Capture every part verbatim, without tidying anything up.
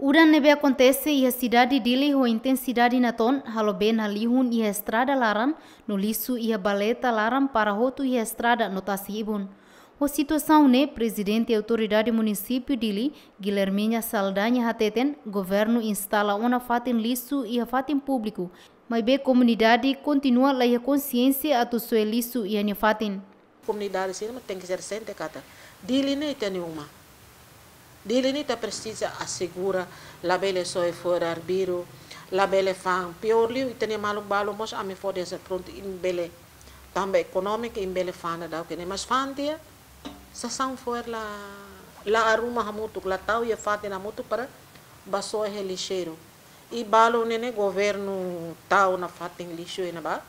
Mudan ne'ebé akontese iha sidade Dili ho intensidade natoon, halo been halihun iha estrada laran, no lixu iha baleta laran para hotu iha estrada no tasi ibun. Ho situasaun ne'e, Prezidente Autoridade Munisípiu Dili, Guilhermina Saldanha hateten, governu instala ona fatin lixu iha fatin públiku, maibé komunidade kontinua laiha konsiénsia atu soe lixu iha nia fatin. Komunidade sira mak tenke ser siente katak Dili ne'e ita-nia uma. Dili ne'e ita presiza asegura, labele soe fo'er arbiru, labele fa'an. Piór liu, ita-nia maluk balu mós ami fó de'it prontu imi bele. Tanba ekonómiku imi bele fa'an daudauk ne'e, mas fa'an tiha, sasán fo'er la, la arruma hamutuk, la tau iha fatin hamutuk para bá soe iha lixeiru. I balu ne'e ne'e governu tau ona fatin lixu iha ne'ebá,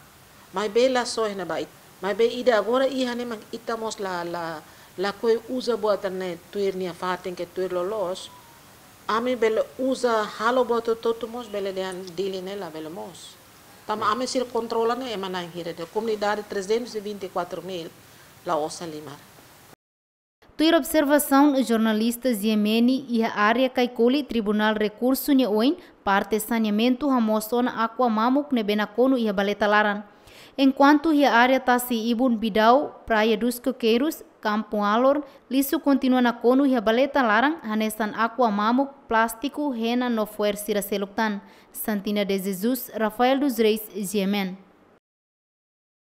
maibé la soe iha ne'ebá. Maibé ida agora iha ne'e mak ita mós la, la, lakohi uza buat ne'e tuir nia fatin ka tuir loloos. Ami bele uza halo buat hotu-hotu mós bele dehan Dili ne'e labele moos. Tanba ami sira kontrola ne'e ema na'in hira de'it. Komunidade trezentos e vinte e quatro mil la osan limar. Tuir observasaun jornalista Ziemeni, iha área Kaikoli, Tribunál Rekursu nia oin, parte saneamentu hamoos ona aqua mamuk ne'ebé nakonu iha baleta laran. Enkuantu iha área tasi ibun Bidau, Praia dos Coqueiros, Campo Alor, lixu kontinua nakonu iha baleta laran, hanesan aqua mamuk, plástiku, hena no fo'er sira seluk tan. Santina de Jesus, Rafael dos Reis, G M N.